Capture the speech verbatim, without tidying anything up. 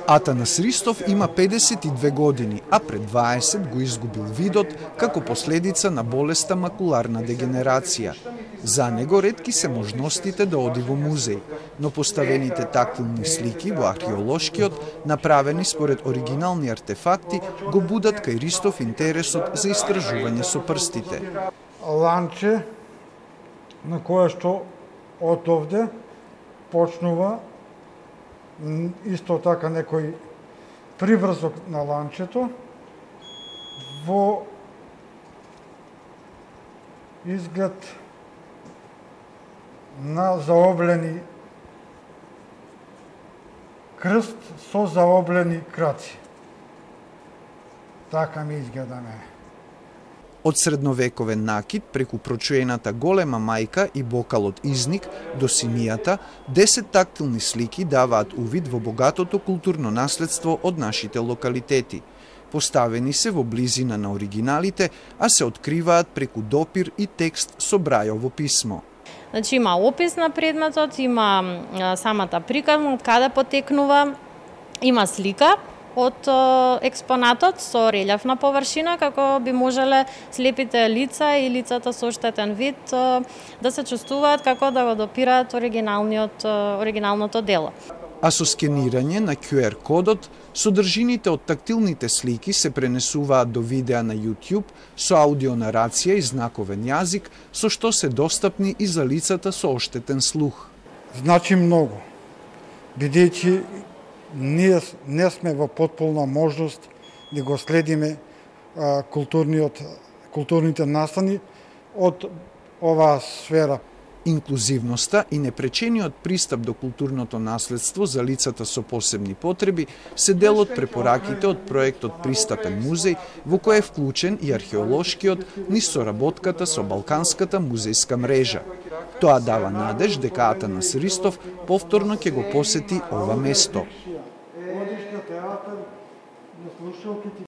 Атанас Ристов има педесет и две години, а пред дваесет го изгубил видот како последица на болеста макуларна дегенерација. За него ретки се можностите да оди во музеј, но поставените тактилни слики во археолошкиот, направени според оригинални артефакти, го будат кај Ристов интересот за истражување со прстите. Ланче на кое што од овде почнува исто така некој приврзок на ланчето во изглед на заоблени крст со заоблени краци. Така ми изгледа мене. Од средновековен накид преку прочуената голема мајка и бокалот изник до симијата, десет тактилни слики даваат увид во богатото културно наследство од нашите локалитети. Поставени се во близина на оригиналите, а се откриваат преку допир и текст со брајово писмо. Значи има опис на предметот, има самата приказна од каде потекнува, има слика од експонатот со релјефна површина, како би можеле слепите лица и лицата со оштетен вид да се чувствуваат како да го допираат оригиналниот, оригиналното дело. А со скенирање на ку ер кодот, содржините од тактилните слики се пренесуваат до видеа на YouTube со аудионарација и знаковен јазик, со што се достапни и за лицата со оштетен слух. Значи многу, бидејќи ние не сме во потполна можност да го следиме а, културниот, културните настани од оваа сфера. Инклузивноста и непречениот пристап до културното наследство за лицата со посебни потреби се дел од препораките од проектот Пристапен музеј, во кој е вклучен и археолошкиот низ соработката со Балканската музејска мрежа. Тоа дава надеж дека Атанас Ристов повторно ќе го посети ова место.